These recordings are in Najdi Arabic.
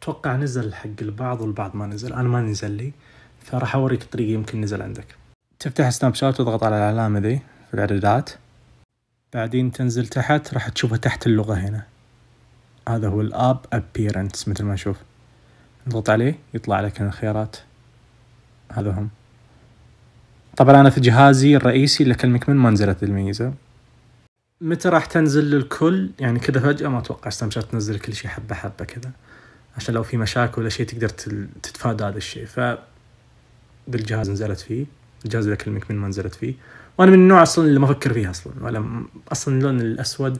أتوقع نزل حق البعض والبعض ما نزل. أنا ما نزل لي، فراح أوريك الطريقة يمكن نزل عندك. تفتح سناب شات وتضغط على العلامة ذي في الإعدادات، بعدين تنزل تحت راح تشوفها تحت اللغة هنا. هذا هو الاب appearance مثل ما نشوف، نضغط عليه يطلع لك هنا الخيارات. هذا هم. طبعا أنا في جهازي الرئيسي اللي أكلمك منه ما نزلت الميزة. متى راح تنزل للكل؟ يعني كذا فجأة ما أتوقع سناب شات تنزل كل شيء حبة حبة كذا، عشان لو في مشاكل ولا شيء تقدر تتفادى هذا الشيء. بالجهاز نزلت فيه، الجهاز اللي أكلمك منه ما نزلت فيه. وأنا من النوع أصلا اللي ما أفكر فيه أصلا، ولا أصلا اللون الأسود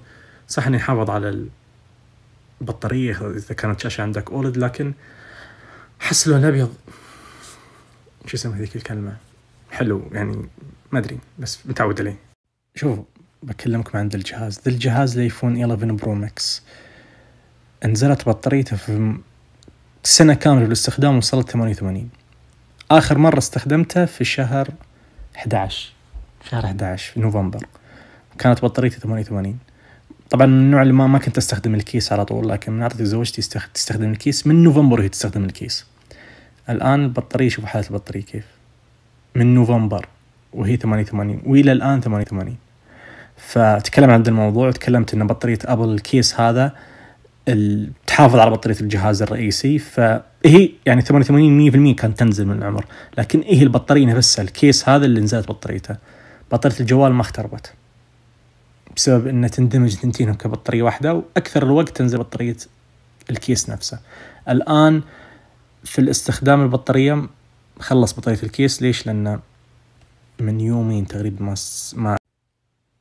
صح إنه يحافظ على البطارية إذا كانت شاشة عندك أولد، لكن أحس اللون الأبيض شو اسمه هذيك الكلمة حلو، يعني ما أدري بس متعود عليه. شوف بكلمكم عن الجهاز ذا الجهاز الايفون 11 برو ماكس، نزلت بطاريته في سنة كاملة بالاستخدام وصلت 88. آخر مرة استخدمته في شهر 11 في نوفمبر، كانت بطاريتي 88. طبعا من النوع اللي ما كنت استخدم الكيس على طول، لكن من عطت زوجتي تستخدم الكيس من نوفمبر وهي تستخدم الكيس. الآن البطارية شوف حالة البطارية كيف، من نوفمبر وهي 88 وإلى الآن 88. فتكلم عن الموضوع وتكلمت إن بطارية أبل الكيس هذا تحافظ على بطارية الجهاز الرئيسي، فهي يعني 88 100% كانت تنزل من العمر، لكن هي البطارية نفسها الكيس هذا اللي نزلت بطاريته. بطارية الجوال ما اختربت بسبب إنه تندمج ثنتينهم كبطارية واحدة، وأكثر الوقت تنزل بطارية الكيس نفسه. الآن في الاستخدام البطارية خلص بطارية الكيس. ليش؟ لأن من يومين تقريبا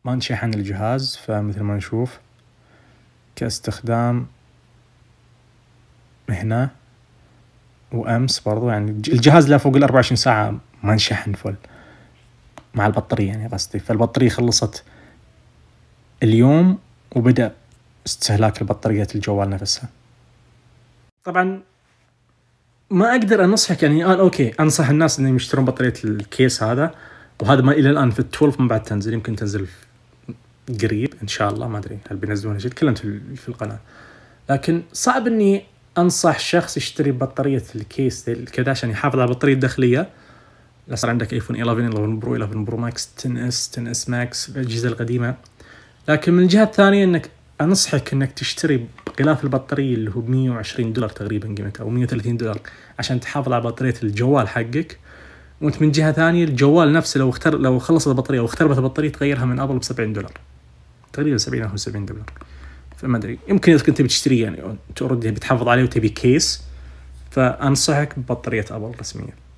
ما نشحن الجهاز، فمثل ما نشوف كاستخدام هنا وأمس برضو، يعني الجهاز لا فوق 24 ساعة ما نشحن فل مع البطارية يعني قصدي. فالبطارية خلصت اليوم وبدأ استهلاك البطاريات الجوال نفسها. طبعا ما أقدر أنصحك يعني الآن أوكي أنصح الناس إنهم يشترون بطارية الكيس هذا، وهذا ما إلى الآن في 12 من بعد تنزل، يمكن تنزل قريب إن شاء الله، ما أدري هل بينزلونها شيء، تكلمت في القناة. لكن صعب إني أنصح شخص يشتري بطارية الكيس كذا عشان يحافظ على البطارية الداخلية. لا صار عندك ايفون 11 برو 11 برو ماكس 10 اس ماكس الأجهزة القديمة. لكن من الجهة الثانية إنك أنصحك إنك تشتري غلاف البطارية اللي هو $120 تقريبا قيمته، أو $130 عشان تحافظ على بطارية الجوال حقك. وأنت من جهة ثانية الجوال نفسه لو خلصت البطارية واختربت البطارية تغيرها من أبل $70 تقريبا، 70 أو $70. فما أدري، يمكن إذا كنت بتشتري يعني تردي بتحافظ عليه وتبي كيس، فأنصحك ببطارية أبل رسمية.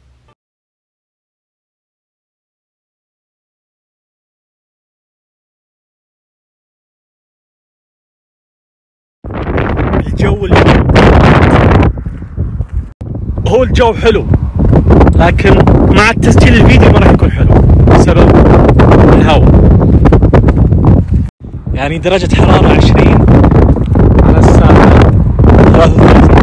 هو الجو حلو، لكن مع التسجيل الفيديو ما راح يكون حلو بسبب الهواء. يعني درجة حرارة 20 على الساعة 33.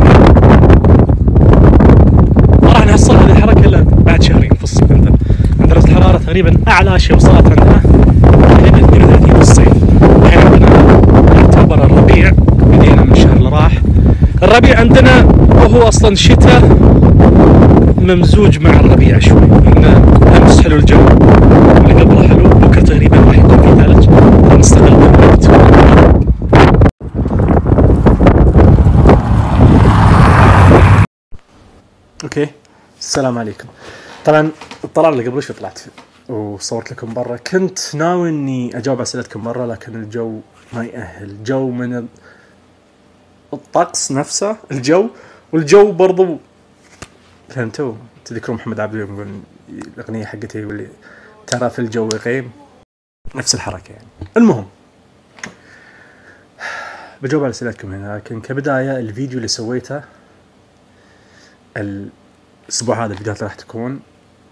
ما راح نحصل هذه الحركة إلا بعد شهرين في الصيف. عندنا درجة الحرارة تقريبا أعلى شيء وصلت عندنا تقريبا 32 في الصيف. الحين عندنا يعتبر الربيع، بدينا من الشهر اللي راح. الربيع عندنا وهو أصلا شتاء ممزوج مع الربيع شوي، إنه أمس حلو الجو اللي قبله حلو، بكرة تقريبا راح يكون في ثلج، فنستغل بالوقت. اوكي السلام عليكم. طبعا الطلعة اللي قبل شوي طلعت وصورت لكم برا، كنت ناوي اني اجاوب اسئلتكم برا، لكن الجو ما يأهل. الجو من الطقس نفسه، الجو والجو برضو فهمتوا. تذكرون محمد عبده يقول الاغنية حقتي واللي ترى في الجو غيم، نفس الحركة يعني. المهم بجاوب على اسئلتكم هنا، لكن كبداية الفيديو اللي سويته الاسبوع هذا، الفيديوهات راح تكون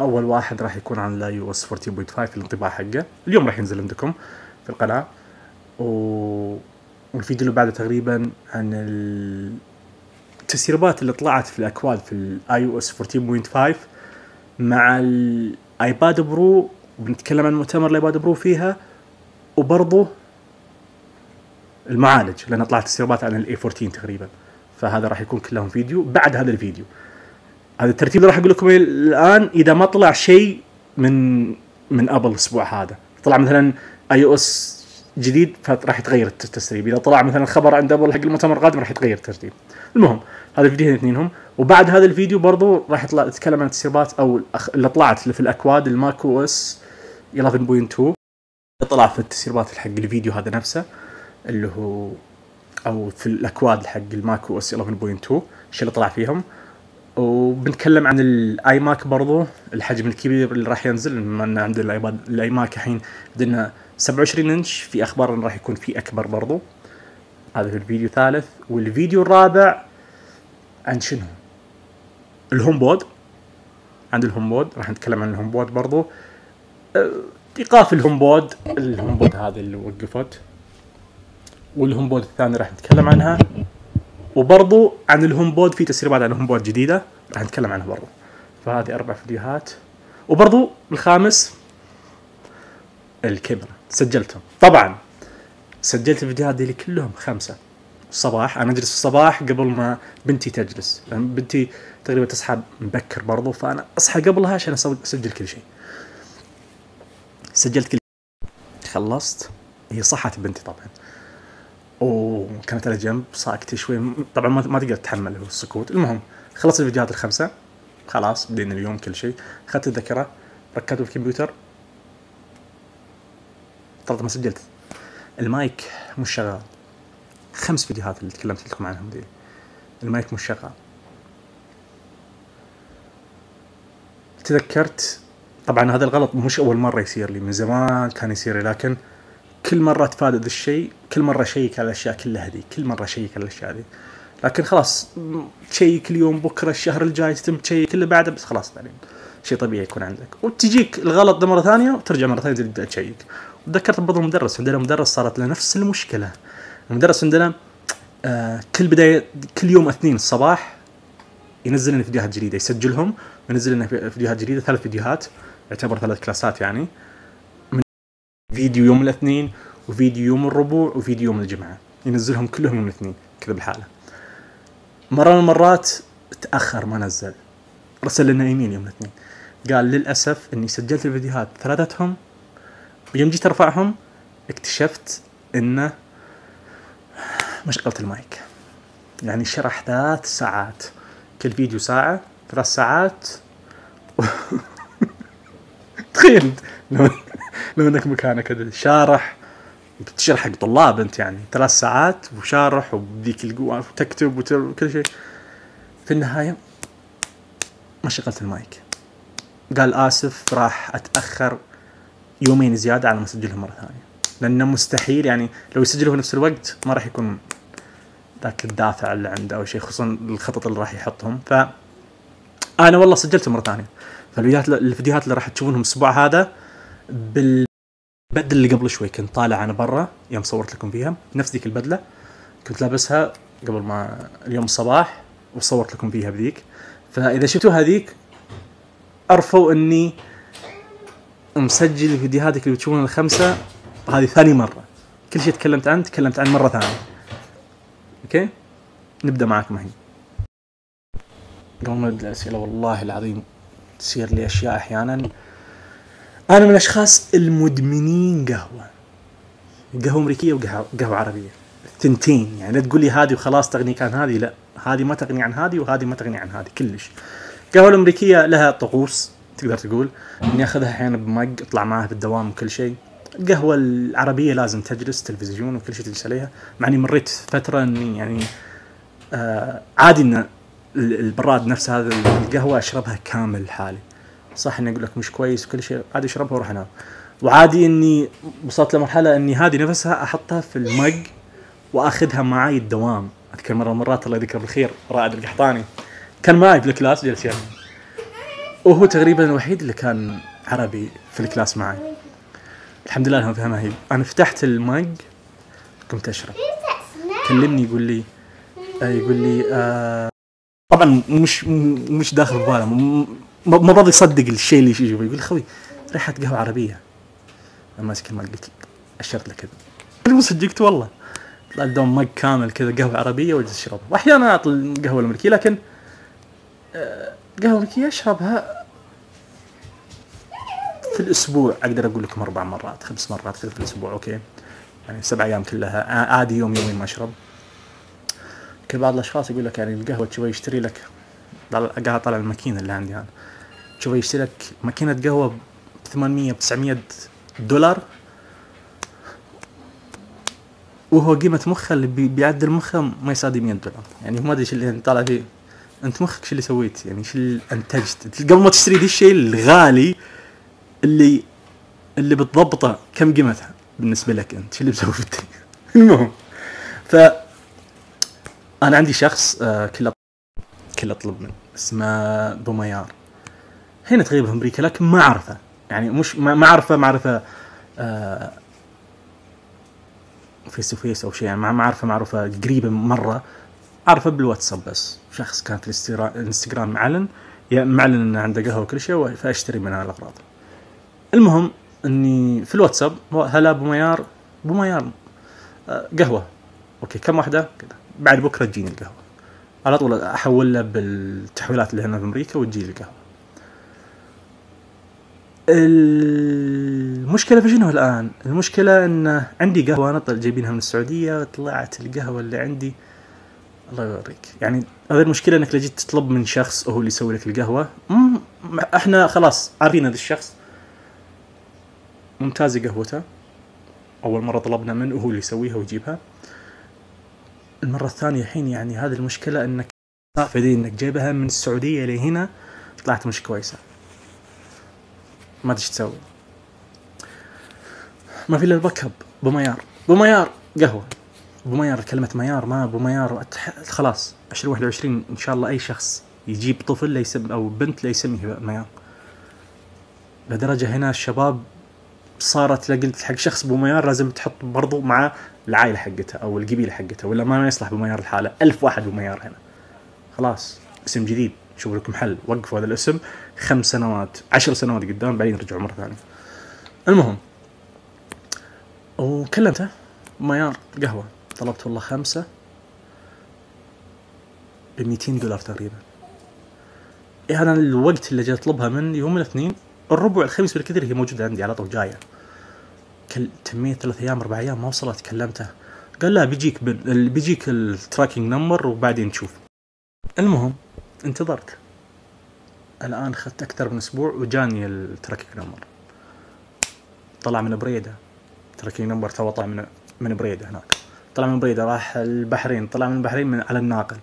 اول واحد راح يكون عن iOS 14.5 الانطباع حقه، اليوم راح ينزل عندكم في القناة. والفيديو اللي بعده تقريبا عن التسريبات اللي طلعت في الاكواد في iOS 14.5 مع الايباد برو، وبنتكلم عن مؤتمر الايباد برو فيها، وبرضه المعالج لان طلعت تسريبات عن الاي 14 تقريبا. فهذا راح يكون كلهم فيديو بعد هذا الفيديو. هذا الترتيب اللي راح اقول لكم الان اذا ما طلع شيء من ابل الاسبوع هذا. طلع مثلا iOS جديد فراح يتغير التسريب، اذا طلع مثلا خبر عند ابل حق المؤتمر القادم راح يتغير الترتيب. المهم هذا الفيديو اثنينهم، وبعد هذا الفيديو برضو راح اتكلم عن التسريبات او اللي طلعت في الاكواد الماك او اس 11.2 طلع في التسريبات حق الفيديو هذا نفسه اللي هو او في الاكواد حق الماك او اس 11.2 الشيء اللي طلع فيهم. وبنتكلم عن الاي ماك برضو الحجم الكبير اللي راح ينزل، بما ان عندنا الاي ماك الحين عندنا 27 انش، في اخبار انه راح يكون في اكبر برضو. هذا في الفيديو الثالث. والفيديو الرابع عن شنو؟ الهوم بود. عند الهوم بود راح نتكلم عن الهوم بود برضو، ايقاف الهوم بود هذه اللي وقفت، والهوم بود الثاني راح نتكلم عنها، وبرضو عن الهوم بود في تسريبات عن الهوم بود جديده راح نتكلم عنها برضو. فهذه 4 فيديوهات. وبرضو الخامس الكاميرا سجلتهم، طبعا سجلت الفيديوهات دي كلهم 5 الصباح. انا اجلس الصباح قبل ما بنتي تجلس، لان بنتي تقريبا تصحى مبكر برضو، فانا اصحى قبلها عشان اسجل كل شيء. سجلت كل شيء، خلصت. هي صحت بنتي طبعا وكانت على جنب ساكتة شوي، طبعا ما تقدر تتحمل السكوت. المهم خلصت الفيديوهات ال5 خلاص، بدينا اليوم كل شيء. اخذت الذاكرة ركبته في الكمبيوتر، طلعت ما سجلت. المايك مش شغال. 5 فيديوهات اللي تكلمت لكم عنهم دي المايك مش شغال. تذكرت طبعا هذا الغلط مش اول مرة يصير لي، من زمان كان يصير لي، لكن كل مرة اتفادى ذا الشيء، كل مرة شيك على الاشياء كلها ذي، كل مرة شيك على الاشياء ذي. لكن خلاص تشيك اليوم بكره الشهر الجاي تتم تشيك اللي بعده، بس خلاص بعدين شيء طبيعي يكون عندك، وتجيك الغلط ده مرة ثانية وترجع مرة ثانية تبدأ تشيك. وتذكرت برضو المدرس، عندنا مدرس صارت له نفس المشكلة. المدرس عندنا كل يوم اثنين الصباح ينزل لنا فيديوهات جديدة، يسجلهم وينزل لنا فيديوهات جديدة، 3 فيديوهات، يعتبر 3 كلاسات يعني. من فيديو يوم الاثنين، وفيديو يوم الربوع، وفيديو يوم الجمعة، ينزلهم كلهم يوم الاثنين كذا بالحالة. مرة من المرات تأخر ما نزل، رسل لنا ايميل يوم الاثنين قال للأسف اني سجلت الفيديوهات 3 ويوم جيت ارفعهم اكتشفت انه ما شغلت المايك. يعني شرح 3 ساعات، كل فيديو ساعة، 3 ساعات تخيل لو انك مكانك كذا شارح، بتشرح حق طلاب انت، يعني 3 ساعات وشارح وبديك القوة وتكتب وكل شيء. في النهاية ما شغلت المايك. قال آسف راح أتأخر 2 زيادة على ما أسجلهم مرة ثانية، لأنه مستحيل يعني لو يسجلوا في نفس الوقت ما راح يكون ذاك الدافع اللي عنده أو شيء، خصوصا الخطط اللي راح يحطهم. فأنا والله سجلتهم مرة ثانية. فالفيديوهات اللي راح تشوفونهم الأسبوع هذا بالبدلة اللي قبل شوي كنت طالع أنا برا يوم صورت لكم فيها، نفس ذيك البدلة كنت لابسها قبل ما اليوم الصباح وصورت لكم فيها بذيك. فإذا شفتوا هذيك أعرفوا أني مسجل الفيديوهات اللي بتشوفونها ال5 هذه ثاني مرة. كل شيء تكلمت عنه مرة ثانية. أوكي نبدأ معاكم الحين. قبل ما نبدأ الأسئلة والله العظيم تصير لي أشياء أحيانا. أنا من الأشخاص المدمنين قهوة أمريكية وقهوة عربية الثنتين، يعني لا تقول لي هذه وخلاص تغنيك عن هذه، لا هذه ما تغني عن هذه وهذه ما تغني عن هذه كلش. القهوة الأمريكية لها طقوس تقدر تقول إني أخذها أحيانا بمج أطلع معها في الدوام وكل شيء. القهوة العربية لازم تجلس تلفزيون وكل شيء تجلس عليها، مع إني مريت فترة إني يعني عادي إن البراد نفس هذا القهوة أشربها كامل حالي، صح إني أقول لك مش كويس وكل شيء، عادي أشربها وأروح أنام. وعادي إني وصلت لمرحلة إني هذه نفسها أحطها في المج وأخذها معي الدوام. أذكر مرة مرات الله يذكره بالخير رائد القحطاني كان معي في الكلاس جلس يعني، وهو تقريبا الوحيد اللي كان عربي في الكلاس معي. الحمد لله انه فهمها هي. انا فتحت المج قمت اشرب، كلمني يقول لي طبعا مش داخل بباله، ما راضي يصدق الشيء اللي يجي، يقول خوي ريحه قهوه عربيه. انا ماسك المج قلت اشرت له كذا، مو صدقت والله. يطلع لدوم مج كامل كذا قهوة عربية واجلس اشربها. واحيانا اعطي القهوة الامريكية، لكن قهوة امريكية اشربها في الاسبوع اقدر اقول لكم 4 مرات 5 مرات في الاسبوع. اوكي يعني 7 ايام كلها عادي، يوم يومين ما اشرب. كل بعض الاشخاص يقول لك يعني القهوة تشوي يشتري لك، قاعد طالع الماكينة اللي عندي انا، تشوي يشتري لك ماكينة قهوة ب 800 ب 900 دولار، وهو قيمة مخه اللي بيعدل مخه ما يساوي 100 دولار. يعني ما ادري ايش اللي طالع فيه. انت مخك شو اللي سويت؟ يعني ايش اللي انتجت قبل ما تشتري ذي الشيء الغالي اللي بتضبطه؟ كم قيمتها بالنسبة لك انت؟ شو اللي بتسوي في الدنيا؟ المهم، انا عندي شخص كله اطلب منه، اسمه بوميار، هنا تقريبا في امريكا، لكن ما اعرفه. يعني مش ما اعرفه معرفة فيس تو فيس او شيء، يعني ما اعرفه معرفة قريبة مرة، اعرفه بالواتساب بس. شخص كان في الانستغرام معلن انه عنده قهوة وكل شيء، فاشتري منها الاغراض. المهم اني في الواتساب، هلا بوميار قهوة، اوكي كم واحدة كذا، بعد بكرة تجيني القهوة. على طول احول له بالتحويلات اللي هنا في امريكا وتجي لي القهوة. المشكلة في شنو الآن؟ المشكلة إن عندي قهوة أنا جايبينها من السعودية، طلعت القهوة اللي عندي الله يوريك. يعني هذه المشكلة، إنك لو جيت تطلب من شخص وهو اللي يسوي لك القهوة، إحنا خلاص عارفين هذا الشخص ممتاز قهوته، أول مرة طلبنا منه وهو اللي يسويها ويجيبها. المرة الثانية الحين يعني هذه المشكلة، إنك فدي إنك جايبها من السعودية لهنا طلعت مش كويسة، ما ادري ايش تسوي. ما في الا الباك اب. بوميار قهوه، بوميار كلمه ميار، ما بوميار خلاص. 2021 ان شاء الله اي شخص يجيب طفل لا يسمي او بنت لا يسميه ميار. لدرجه هنا الشباب صارت لقلت حق شخص بوميار لازم تحط برضو مع العائله حقتها او القبيله حقتها، ولا ما يصلح بوميار الحاله. 1000 واحد بوميار هنا، خلاص اسم جديد، شوفوا لكم حل، وقفوا هذا الاسم 5 سنوات 10 سنوات قدام، بعدين رجعوا مرة ثانية. المهم، وكلمته ميار قهوة، طلبت والله 5 ب$200 تقريبا. إيه أنا الوقت اللي جاي أطلبها من يوم الاثنين، الربع الخميس بالكثير هي موجودة عندي على طول جاية. تمية 3 أيام 4 أيام ما وصلت. كلمته قال لا بيجيك التراكينج نمبر وبعدين نشوف. المهم انتظرت، الآن خدت أكثر من أسبوع وجاني التراكينج نمبر. طلع من بريدة، تراكينج نمبر تو طلع من بريدة هناك. طلع من بريدة راح البحرين، طلع من البحرين على الناقل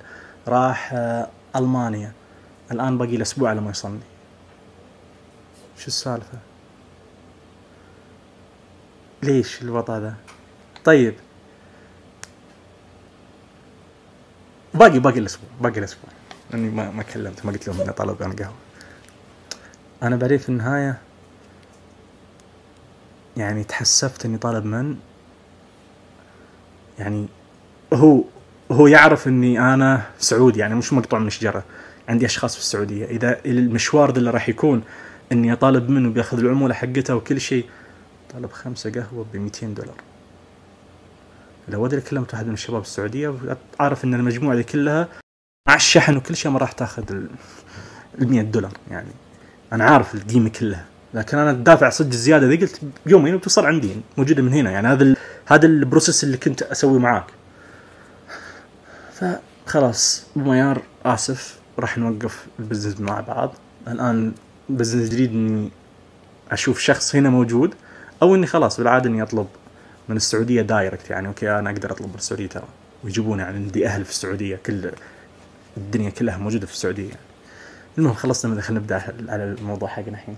راح ألمانيا. الآن باقي الأسبوع على ما يصلني. شو السالفة؟ ليش الوضع ذا؟ طيب باقي الأسبوع لأني ما كلمت، ما قلت لهم إني طالب أنا قهوة. أنا بعدين في النهاية يعني تحسفت إني طالب من، يعني هو يعرف إني أنا سعودي، يعني مش مقطوع من الشجرة، عندي أشخاص في السعودية. إذا المشوار ده اللي راح يكون إني أطالب منه بياخذ العمولة حقتها وكل شيء، طالب 5 قهوة ب$200. لو أدري كلمت واحد من الشباب السعودية، أعرف إن المجموعة دي كلها مع الشحن وكل شيء ما راح تاخذ $100. يعني أنا عارف القيمة كلها، لكن أنا دافع صدق الزيادة ذي، قلت يومين وتصل عندي موجودة من هنا. يعني هذا البروسيس اللي كنت أسوي معاك. فخلاص بوميار آسف، راح نوقف البزنس مع بعض. الآن بزنس جديد إني أشوف شخص هنا موجود، أو إني خلاص بالعادة إني أطلب من السعودية دايركت. يعني أوكي أنا أقدر أطلب من السعودية ترى ويجيبوني، يعني عندي أهل في السعودية، كل الدنيا كلها موجودة في السعودية. يعني المهم خلصنا من خلينا نبدأ على الموضوع حقنا الحين.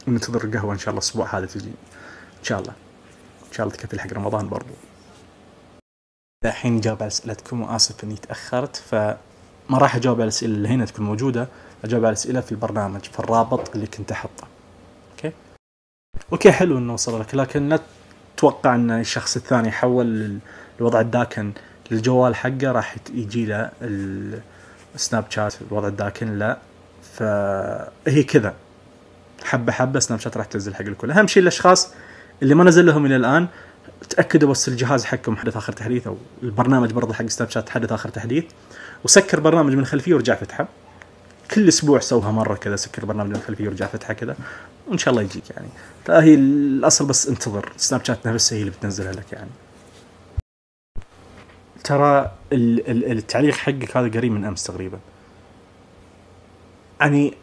ننتظر القهوة إن شاء الله الأسبوع هذا تجي إن شاء الله تكفي حق رمضان برضو. الحين جاوب على أسئلتكم، وآسف إني تأخرت، فما راح أجاوب على الأسئلة اللي هنا تكون موجودة، أجاوب على الأسئلة في البرنامج في الرابط اللي كنت أحطه. أوكي حلو إنه وصل لك، لكن لا تتوقع إن الشخص الثاني حول الوضع الداكن للجوال حقه راح يجي له السناب شات الوضع الداكن، لا. فهي كذا حبة سناب شات راح تنزل حق الكل. أهم شيء الأشخاص اللي ما نزل لهم إلى الآن تأكدوا بس الجهاز حقكم حدث آخر تحديث، أو البرنامج برضه حق سناب شات حدث آخر تحديث، وسكر برنامج من الخلفية ورجع فتحه. كل أسبوع سوها مرة كذا، سكر برنامج من الخلفية ورجع فتحه كذا، وإن شاء الله يجيك يعني. فهي الأصل بس انتظر سناب شات نفسها هي اللي بتنزلها لك يعني. ترى التعليق حقك هذا قريب من أمس تقريبا، يعني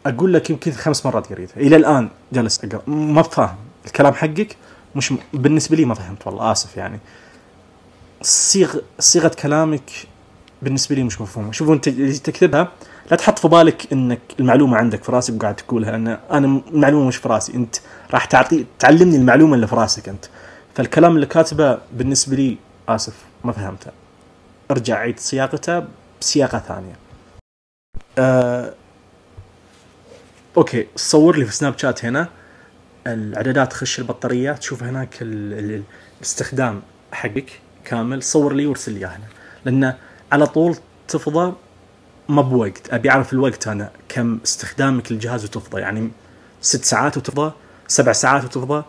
أقول لك يمكن 5 مرات قريتها إلى الآن جالس أقرأ، ما فاهم الكلام حقك، مش بالنسبة لي ما فهمت والله، آسف يعني. صيغة كلامك بالنسبة لي مش مفهومة. شوفوا أنت تكتبها لا تحط في بالك إنك المعلومة عندك في راسك وقاعد تقولها، أنا المعلومة مش في راسي، أنت راح تعلمني المعلومة اللي في راسك أنت. فالكلام اللي كاتبه بالنسبة لي آسف ما فهمته، ارجع عيد صياغته بصياغة ثانية. أوكي، صور لي في سناب شات هنا الإعدادات، خش البطارية تشوف هناك الاستخدام حقك كامل، صور لي وارسل لي هنا، لأن على طول تفضى ما بوقت. أبي أعرف الوقت أنا كم استخدامك للجهاز وتفضى، يعني 6 ساعات وتفضى، 7 ساعات وتفضى،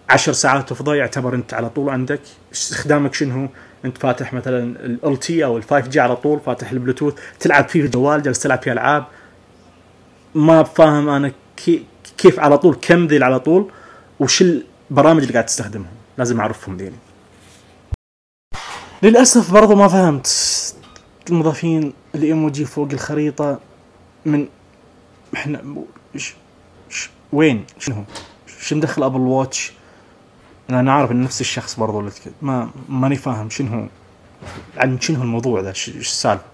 10 ساعات وتفضى، يعتبر أنت على طول عندك استخدامك شنو. أنت فاتح مثلا ال LTE أو ال 5G على طول، فاتح البلوتوث تلعب فيه الجوال، جالس تلعب فيه ألعاب، ما فاهم أنا كيف على طول، كم ذي على طول، وش البرامج اللي قاعد تستخدمهم، لازم أعرفهم ذيني. للأسف برضو ما فهمت المضافين الإيموجي فوق الخريطة من إحنا وين، شنو مدخل أبل واتش. أنا عارف إن نفس الشخص برضو اللي ماني فاهم شنو الموضوع ذا، إيش السالفة.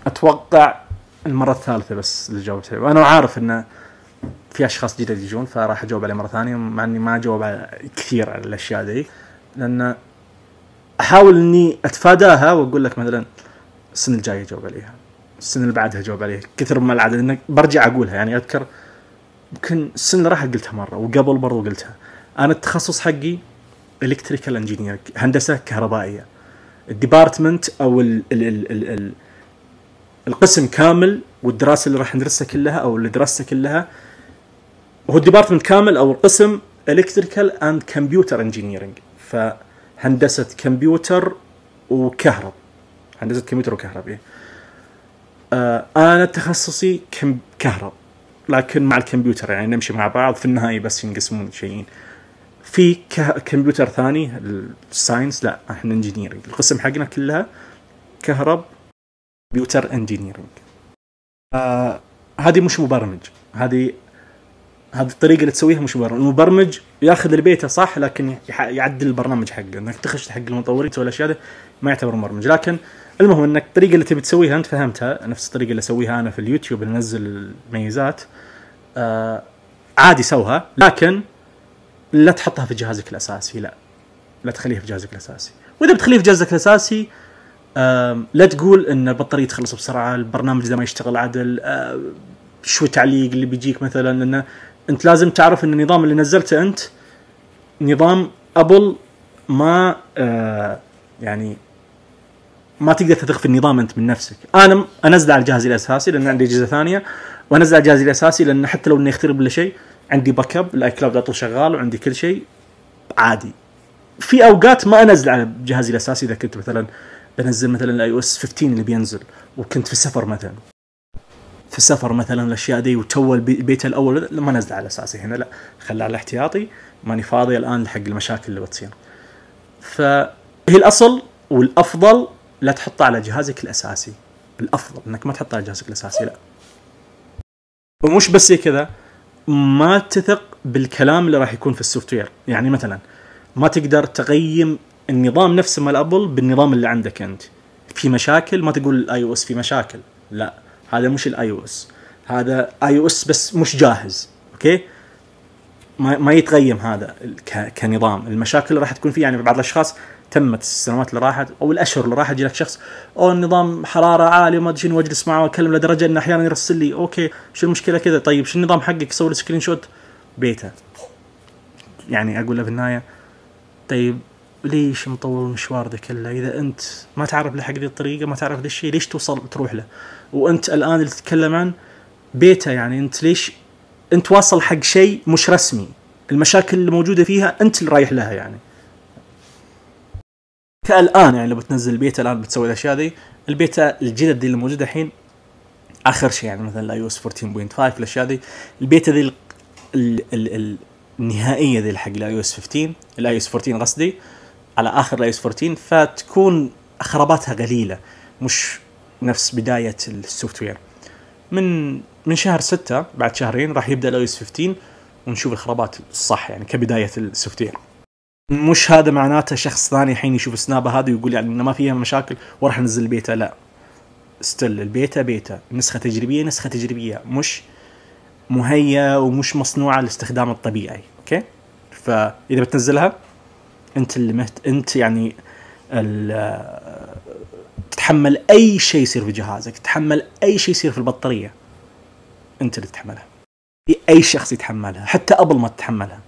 أتوقع المرة الثالثة بس اللي جاوبتها، وأنا عارف إن في أشخاص جديد يجون، فراح أجاوب عليه مرة ثانية، مع إني ما أجاوب كثير على الأشياء دي، لأن أحاول إني أتفاداها وأقول لك مثلا السنة الجاية أجاوب عليها، السنة اللي بعدها أجاوب عليها، كثر ما العادة إنك برجع أقولها. يعني أذكر يمكن السنة اللي راحت قلتها مرة، وقبل برضو قلتها. أنا التخصص حقي إلكتريكال إنجينير، هندسة كهربائية. الديبارتمنت أو القسم كامل، والدراسة اللي راح ندرسها كلها أو اللي درستها كلها هو الديبارتمنت كامل أو القسم إلكتريكال أند كمبيوتر إنجينيرينج. فهندسة كمبيوتر وكهرب، هندسة كمبيوتر وكهرب. أنا تخصصي كهرب، لكن مع الكمبيوتر يعني نمشي مع بعض في النهاية، بس ينقسمون شيئين. في كمبيوتر ثاني الساينس، لا احنا انجينيرينج، القسم حقنا كلها كهرب كمبيوتر انجينيرينج. هذه مش مبرمج، هذه الطريقة اللي تسويها مش مبرمج. المبرمج ياخذ البيتا صح، لكن يعدل البرنامج حقه، انك تخش حق المطورين تسوي الاشياء ده ما يعتبر مبرمج. لكن المهم انك الطريقة اللي تبي تسويها انت فهمتها، نفس الطريقة اللي اسويها انا في اليوتيوب، اللي ننزل الميزات عادي سوها، لكن لا تحطها في جهازك الاساسي، لا تخليها في جهازك الاساسي. واذا بتخليها في جهازك الاساسي لا تقول ان البطارية تخلص بسرعة، البرنامج ده ما يشتغل عدل، شو تعليق اللي بيجيك مثلا. لان انت لازم تعرف ان النظام اللي نزلته انت نظام ابل، ما يعني ما تقدر تثق في النظام انت من نفسك. انا انزل على جهازي الاساسي لان عندي اجهزه ثانيه، وانزل على جهازي الاساسي لان حتى لو اني اخترب ولا شيء عندي باك اب، الاي كلاود على طول شغال وعندي كل شيء عادي. في اوقات ما انزل على جهازي الاساسي، اذا كنت مثلا بنزل مثلا الاي اس 15 اللي بينزل وكنت في السفر مثلا الاشياء دي وتو البيت الاول، لما نزل على اساسي هنا، لا خلى على الاحتياطي، ماني فاضي الان لحق المشاكل اللي بتصير. فهي الاصل والافضل لا تحطه على جهازك الاساسي، الافضل انك ما تحطه على جهازك الاساسي. لا، ومش بس كذا، ما تثق بالكلام اللي راح يكون في السوفت وير. يعني مثلا ما تقدر تقيم النظام نفسه مال ابل بالنظام اللي عندك انت. في مشاكل ما تقول الاي او اس في مشاكل، لا هذا مش الاي او اس، هذا اي او اس بس مش جاهز. اوكي، ما يتقيم هذا كنظام. المشاكل اللي راح تكون فيه، يعني بعض الاشخاص تمت السنوات اللي راحت او الاشهر اللي راحت يجي لك شخص النظام حراره عاليه وما ادري شنو، واجلس معه واكلم لدرجه انه احيانا يرسل لي اوكي شو المشكله كذا، طيب شو النظام حقك، يسوي لي سكرين شوت بيتا. يعني اقول له في النهايه طيب ليش مطول المشوار ده كله اذا انت ما تعرف لحق ذي الطريقه، ما تعرف ذا الشيء، ليش توصل تروح له؟ وانت الان اللي تتكلم عن بيتا، يعني انت ليش انت واصل حق شيء مش رسمي، المشاكل اللي موجوده فيها انت اللي رايح لها. يعني كالآن يعني لو بتنزل البيتا الآن بتسوي الأشياء ذي، البيتا الجدد دي اللي موجودة الحين آخر شيء يعني مثلا ال iOS 14.5 الأشياء ذي، البيتا ذي النهائية ذي الحق ال iOS 15 ال iOS 14 قصدي، على آخر ال iOS 14، فتكون خراباتها قليلة مش نفس بداية السوفت وير. من شهر 6 بعد شهرين راح يبدأ ال iOS 15 ونشوف الخرابات الصح يعني كبداية السوفت وير. مش هذا معناته شخص ثاني حين يشوف السنابة هذا ويقول يعني إنه ما فيها مشاكل وراح ننزل البيتا، لا، ستيل البيتا بيتا، نسخة تجريبية مش مهيئة ومش مصنوعة للاستخدام الطبيعي. اوكي، فإذا بتنزلها انت اللي انت يعني تتحمل اي شيء يصير في جهازك، تتحمل اي شيء يصير في البطارية، انت اللي تتحملها، في اي شخص يتحملها، حتى ابل ما تتحملها.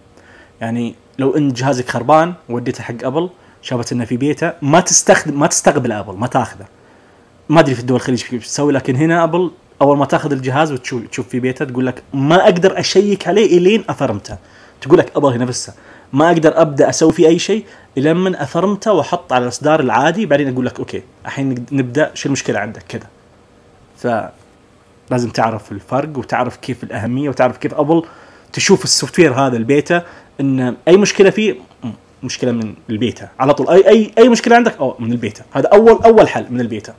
يعني لو ان جهازك خربان وديته حق ابل، شافت انه في بيتا، ما تستقبل ابل، ما تاخذه. ما ادري في الدول الخليج كيف تسوي، لكن هنا ابل اول ما تاخذ الجهاز وتشوف في بيتا تقول لك ما اقدر اشيك عليه الين افرمته. تقول لك ابل هنا نفسها ما اقدر ابدا اسوي فيه اي شيء الا من افرمته واحط على الاصدار العادي، بعدين اقول لك اوكي الحين نبدا، شو المشكله عندك كذا. فلازم تعرف الفرق وتعرف كيف الاهميه وتعرف كيف ابل تشوف السوفت وير هذا البيتا، ان اي مشكله فيه مشكله من البيتا على طول. اي مشكله عندك من البيتا، هذا اول حل من البيتا.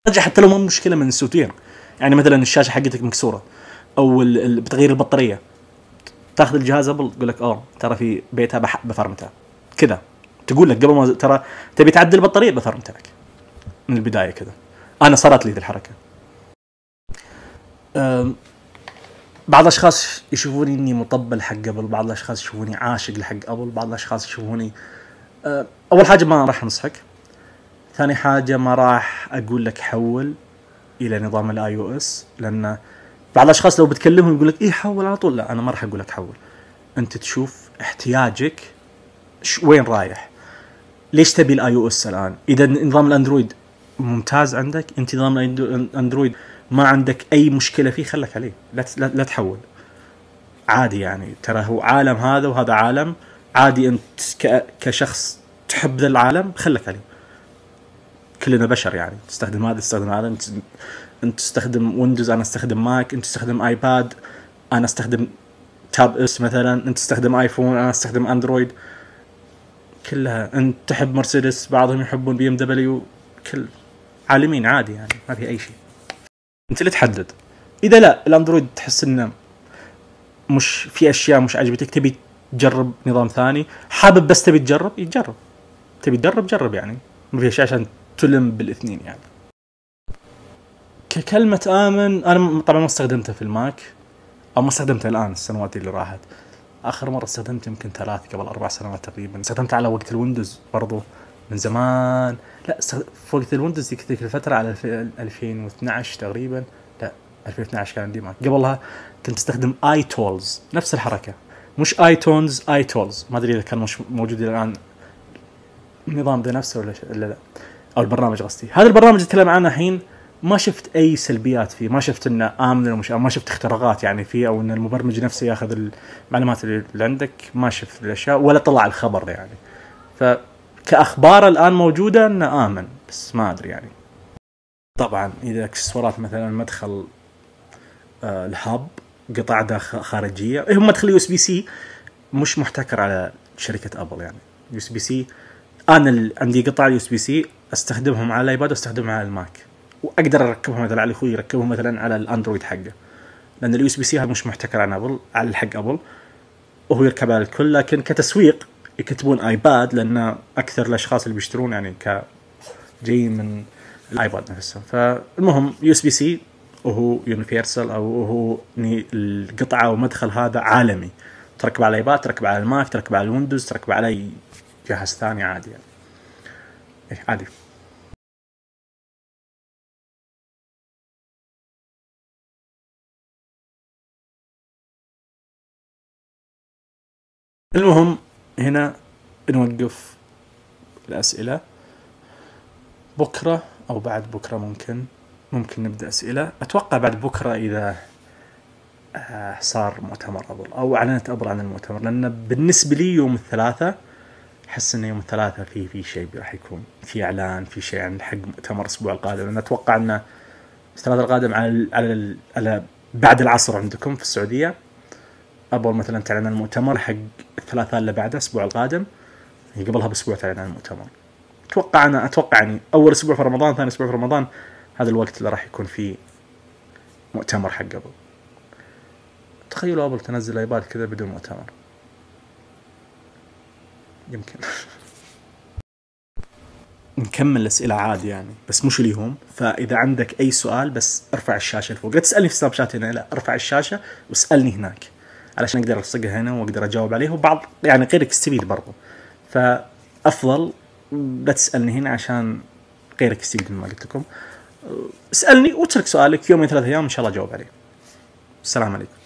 رجع حتى لو ما مشكله من السوفت وير، يعني مثلا الشاشه حقتك مكسوره او بتغير البطاريه، تاخذ الجهاز ابل تقول لك ترى في بيتا بفرمته كذا، تقول لك قبل ما ترى تبي تعدل البطاريه بفرمته لك من البدايه كذا. انا صارت لي ذي الحركه. بعض الاشخاص يشوفوني اني مطبل حق ابل، بعض الاشخاص يشوفوني عاشق لحق ابل، بعض الاشخاص يشوفوني اول حاجه ما راح انصحك، ثاني حاجه ما راح اقول لك حول الى نظام الاي او اس، لان بعض الاشخاص لو بتكلمهم يقول لك حول على طول. لا، انا ما راح اقول لك حول، انت تشوف احتياجك وين رايح، ليش تبي الاي او اس الان. اذا نظام الاندرويد ممتاز عندك، انت نظام الاندرويد ما عندك اي مشكله فيه، خلك عليه، لا تحول، عادي يعني. ترى هو عالم هذا وهذا عالم عادي، انت كشخص تحب ذا العالم خلك عليه. كلنا بشر يعني، تستخدم هذا تستخدم هذا، انت تستخدم ويندوز، انا استخدم ماك، انت تستخدم ايباد، انا استخدم تاب اس مثلا، انت تستخدم ايفون، انا استخدم اندرويد، كلها. انت تحب مرسيدس، بعضهم يحبون بي ام دبليو، كل عالمين عادي يعني، ما في اي شيء. انت اللي تحدد. اذا لا الاندرويد تحس انه مش في اشياء مش عجبتك، تبي تجرب نظام ثاني، حابب بس تبي تجرب، يتجرب، تبي تجرب جرب يعني، ما في شيء عشان تلم بالاثنين يعني. ككلمة آمن، أنا طبعا ما استخدمتها في الماك، أو ما استخدمتها الآن السنوات اللي راحت. آخر مرة استخدمت يمكن قبل 4 سنوات تقريبا. استخدمت على وقت الويندوز برضو من زمان، لا في وقت الويندوز ذيك الفترة على 2012 تقريبا، لا 2012 كان عندي ماك. قبلها كنت استخدم اي تولز، نفس الحركة، مش اي تونز، اي تولز. ما أدري إذا كان مش موجود الآن النظام ده نفسه ولا لا، أو البرنامج قصدي. هذا البرنامج أتكلم عنه الحين، ما شفت أي سلبيات فيه، ما شفت إنه آمن ولا مش آمن، ما شفت اختراقات يعني فيه، أو إن المبرمج نفسه يأخذ المعلومات اللي عندك، ما شفت الأشياء ولا طلع الخبر يعني. فكأخبار الآن موجودة إنه آمن، بس ما أدري يعني. طبعا إذا اكسسوارات مثلا مدخل الهاب، قطع خارجية، هم مدخل يو اس بي سي مش محتكر على شركة أبل يعني. يو اس بي سي أنا عندي قطع يو اس بي سي استخدمهم على الايباد واستخدمهم على الماك، واقدر اركبهم مثلا على اخوي يركبهم مثلا على الاندرويد حقه، لان اليو اس بي سي هذا مش محتكر على ابل، على حق ابل، وهو يركب على الكل. لكن كتسويق يكتبون ايباد، لان اكثر الاشخاص اللي بيشترون يعني جايين من الايباد نفسه. فالمهم يو اس بي سي وهو يونيفرسال، او هو القطعه ومدخل هذا عالمي، تركب على الايباد، تركب على الماك، تركب على الويندوز، تركب على اي جهاز ثاني عادي يعني. عادي. المهم هنا نوقف الأسئلة، بكرة أو بعد بكرة ممكن نبدأ أسئلة. أتوقع بعد بكرة إذا صار مؤتمر أبل أو أعلنت أبل عن المؤتمر، لأن بالنسبة لي يوم الثلاثاء أحس إن يوم الثلاثاء في شيء راح يكون في إعلان، في شيء عن حق مؤتمر الأسبوع القادم. أنا أتوقع إنه الثلاثاء القادم على بعد العصر عندكم في السعودية. أبل مثلا تعلن عن المؤتمر حق الثلاثاء اللي بعده الأسبوع القادم، يعني قبلها بأسبوع تعلن عن المؤتمر. أتوقع يعني أول أسبوع في رمضان، ثاني أسبوع في رمضان، هذا الوقت اللي راح يكون فيه مؤتمر حق أبل. تخيلوا أبل تنزل ايباد كذا بدون مؤتمر، يمكن. نكمل الأسئلة عادي يعني، بس مش اليوم. فإذا عندك أي سؤال بس ارفع الشاشة لفوق، لا تسألني في سناب شات هنا، لا ارفع الشاشة واسألني هناك علشان أقدر ألصقها هنا وأقدر أجاوب عليه، وبعض يعني غيرك يستفيد برضو. فأفضل لا تسألني هنا عشان غيرك يستفيد من ما قلت لكم. اسألني واترك سؤالك يومين 3 أيام إن شاء الله أجاوب عليه. السلام عليكم.